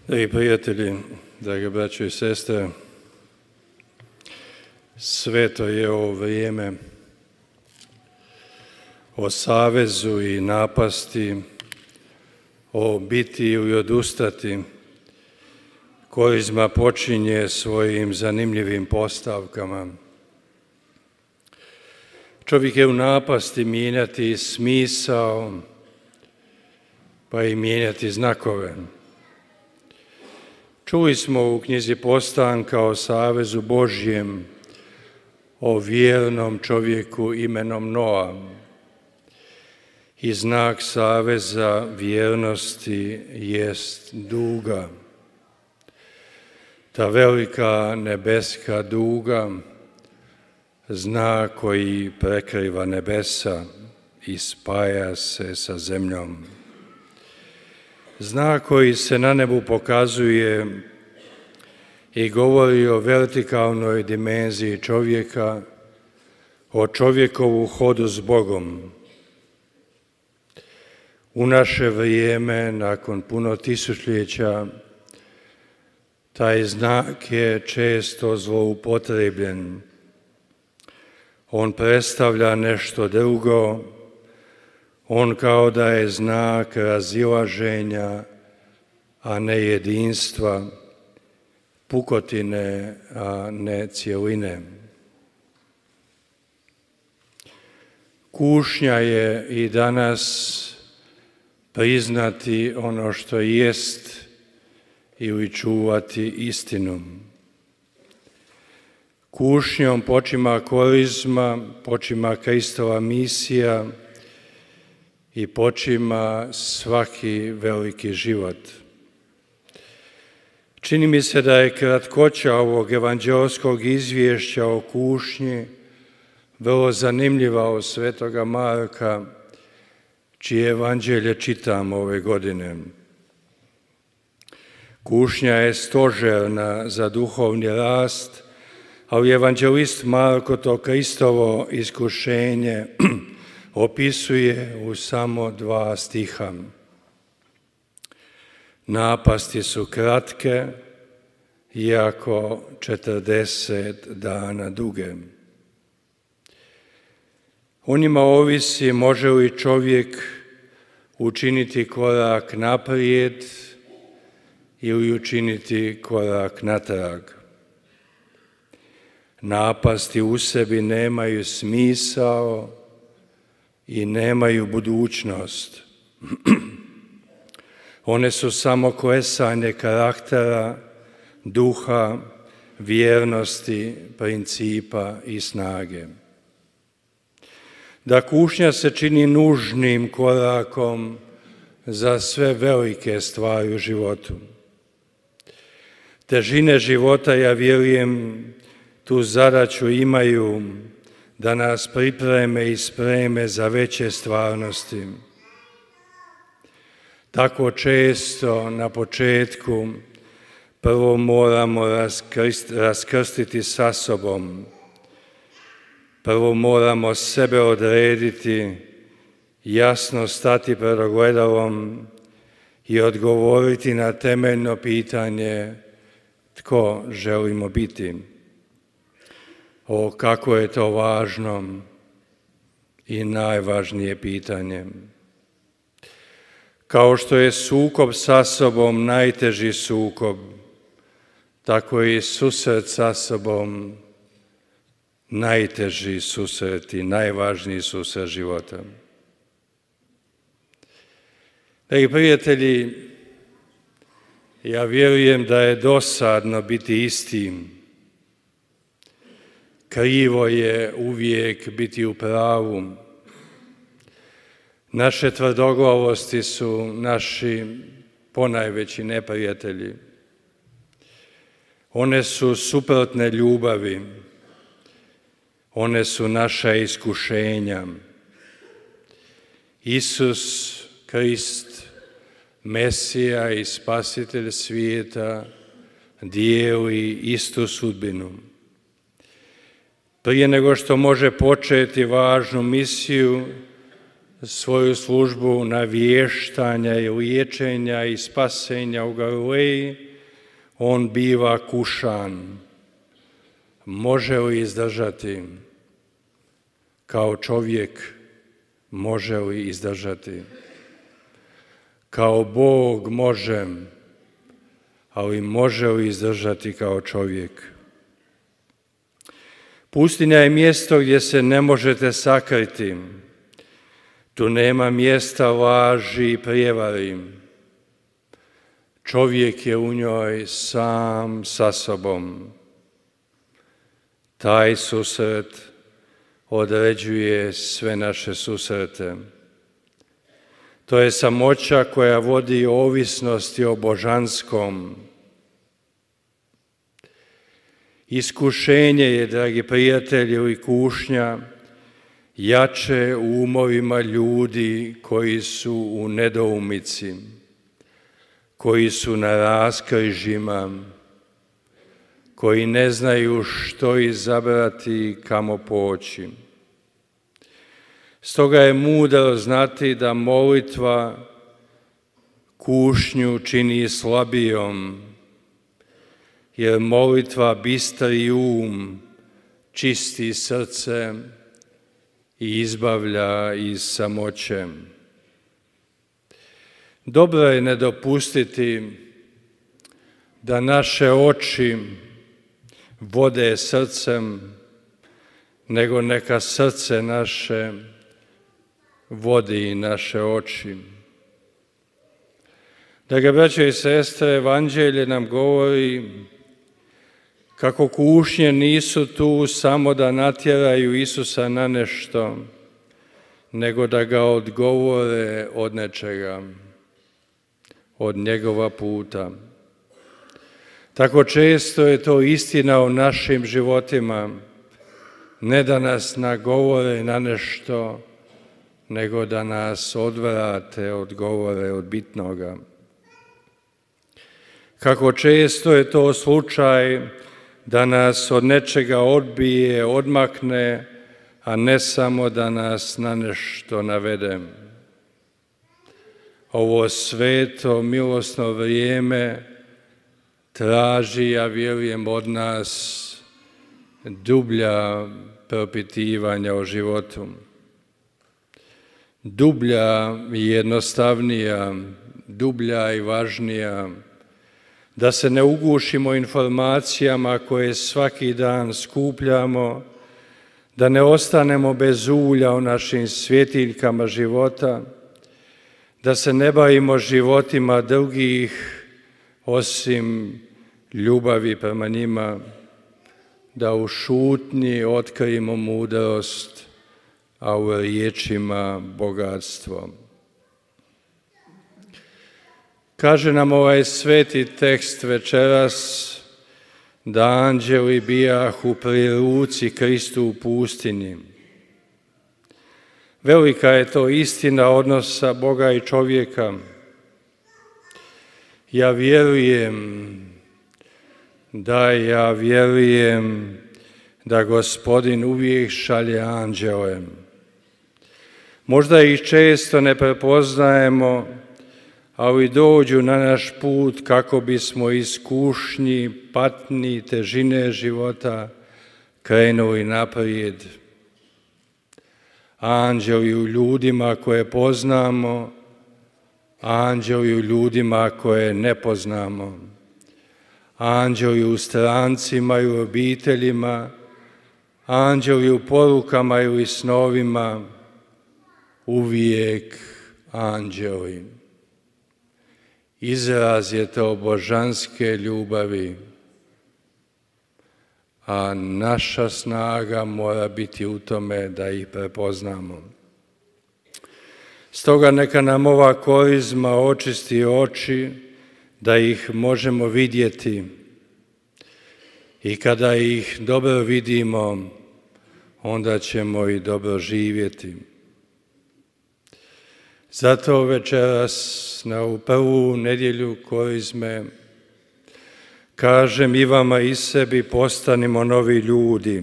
Dragi prijatelji, drage braćo i sestre, sveto je ovo vrijeme o savezu i napasti, o biti i odustati. Korizma počinje svojim zanimljivim postavkama. Čovjek je u napasti mijenjati smisao, pa i mijenjati znakove. Čuli smo u knjizi Postanka o savezu Božjem, o vjernom čovjeku imenom Noa. I znak saveza vjernosti jest duga. Ta velika nebeska duga, znak koji prekriva nebesa i spaja se sa zemljom. Znak koji se na nebu pokazuje i govori o vertikalnoj dimenziji čovjeka, o čovjekovu hodu s Bogom. U naše vrijeme, nakon puno tisućljeća, taj znak je često zloupotrebljen. On predstavlja nešto drugo, on kao da je znak razilaženja, a ne jedinstva, pukotine, a ne cjeline. Kušnja je i danas priznati ono što jest ili čuvati istinu. Kušnjom počima korizma, počima Kristova misija i počima svaki veliki život. Čini mi se da je kratkoća ovog evanđelskog izvješća o kušnji vrlo zanimljiva od svetoga Marka, čije evanđelje čitam ove godine. Kušnja je stožerna za duhovni rast, ali evanđelist Marko to Kristovo iskušenje opisuje u samo 2 stiha. Napasti su kratke, iako 40 dana duge. O njima ovisi može li čovjek učiniti korak naprijed ili učiniti korak natrag. Napasti u sebi nemaju smisao i nemaju budućnost. One su samo klesanje karaktera, duha, vjernosti, principa i snage. Da kušnja se čini nužnim korakom za sve velike stvari u životu. Težine života, ja vjerujem, tu zadaću imaju da nas pripreme i spreme za veće stvarnosti. Tako često na početku prvo moramo raskrstiti sa sobom. Prvo moramo sebe odrediti, jasno stati pred ogledalom i odgovoriti na temeljno pitanje tko želimo biti. O, kako je to važno i najvažnije pitanje. Kao što je sukob sa sobom najteži sukob, tako i susret sa sobom najteži susret i najvažniji susret života. Dragi prijatelji, ja vjerujem da je dosadno biti istim. Krivo je uvijek biti u pravu. Naše tvrdoglavosti su naši ponajveći neprijatelji. One su suprotne ljubavi. One su naša iskušenja. Isus Krist, Mesija i Spasitelj svijeta, dijeli istu sudbinu. Prije nego što može početi važnu misiju, svoju službu navještanja i liječenja i spasenja u Galileji, on biva kušan. Može li izdržati? Kao čovjek može li izdržati? Kao Bog može, ali može li izdržati kao čovjek? Pustinja je mjesto gdje se ne možete sakriti. Tu nema mjesta laži i prijevari. Čovjek je u njoj sam sa sobom. Taj susret određuje sve naše susrete. To je samoća koja vodi ovisnosti o božanskom. Iskušenje je, dragi prijatelji, i kušnja jače u umovima ljudi koji su u nedoumici, koji su na raskrižjima, koji ne znaju što izabrati i kamo poći. Stoga je mudro znati da molitva kušnju čini slabijom, jer molitva bistri um, čisti srce i izbavlja iz samoće. Dobro je ne dopustiti da naše oči vode srcem, nego neka srce naše vodi naše oči. Drage braćo i sestre, Evanđelje nam govori kako kušnje nisu tu samo da natjeraju Isusa na nešto, nego da ga odgovore od nečega, od njegova puta. Tako često je to istina o našim životima, ne da nas nagovore na nešto, nego da nas odvrate, odgovore od bitnoga. Kako često je to slučaj da nas od nečega odbije, odmakne, a ne samo da nas na nešto navede. Ovo sveto, milosno vrijeme traži, ja vjerujem, od nas dublja propitivanja o životu. Dublja i jednostavnija, dublja i važnija, da se ne ugušimo informacijama koje svaki dan skupljamo, da ne ostanemo bez ulja u našim svjetiljkama života, da se ne bavimo životima drugih osim ljubavi prema njima, da u šutnji otkrijemo mudrost, a u riječima bogatstvo. Kaže nam ovaj sveti tekst večeras da anđeli bijahu pri ruci Kristu u pustinji. Velika je to istina odnosa Boga i čovjeka. Ja vjerujem da Gospodin uvijek šalje anđele. Možda ih često ne prepoznajemo, ali dođu na naš put kako bismo iz kušnji, patnji, težine života krenuli naprijed. Anđeli u ljudima koje poznamo, anđeli u ljudima koje ne poznamo, anđeli u strancima i u obiteljima, anđeli u porukama ili snovima, uvijek anđeli. Izraz je to božanske ljubavi, a naša snaga mora biti u tome da ih prepoznamo. Stoga neka nam ova korizma očisti oči, da ih možemo vidjeti i kada ih dobro vidimo, onda ćemo i dobro živjeti. Zato večeras na ovu prvu nedjelju korizme kažem i vama i sebi, postanimo novi ljudi.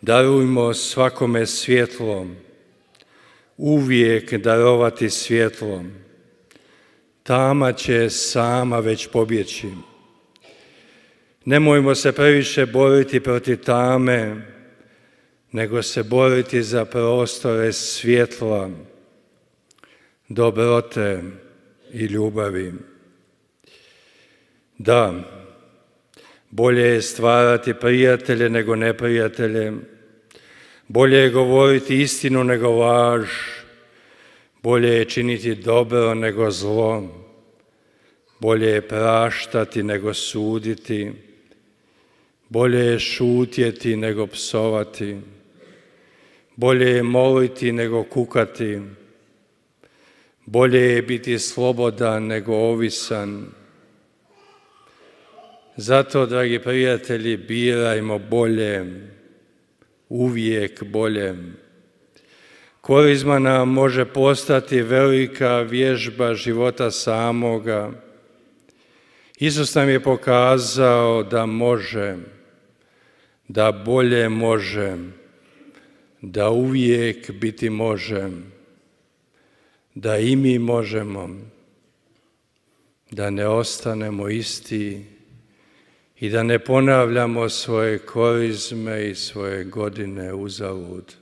Darujmo svakome svjetlo, uvijek darovati svjetlo. Tama će sama već pobjeći. Nemojmo se previše boriti protiv tame, nego se boriti za prostore svjetla, dobrote i ljubavi. Da, bolje je stvarati prijatelje nego neprijatelje, bolje je govoriti istinu nego laž, bolje je činiti dobro nego zlo, bolje je praštati nego suditi, bolje je šutjeti nego psovati, bolje je moliti nego kukati, bolje je biti slobodan nego ovisan. Zato, dragi prijatelji, birajmo bolje, uvijek bolje. Korizma nam može postati velika vježba života samoga. Isus nam je pokazao da može, da bolje može, da uvijek biti može, da i mi možemo, da ne ostanemo isti i da ne ponavljamo svoje korizme i svoje godine uzalud.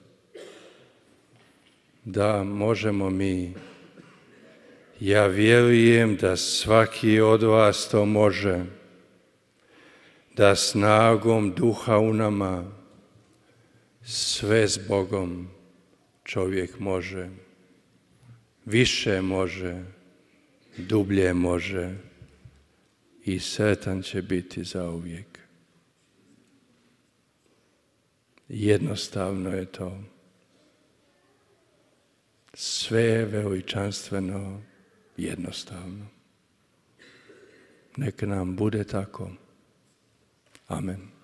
Da, možemo mi. Ja vjerujem da svaki od vas to može, da snagom Duha u nama sve s Bogom čovjek može. Više može, dublje može i sretan će biti zauvijek. Jednostavno je to. Sve je veličanstveno, jednostavno. Nek nam bude tako. Amen.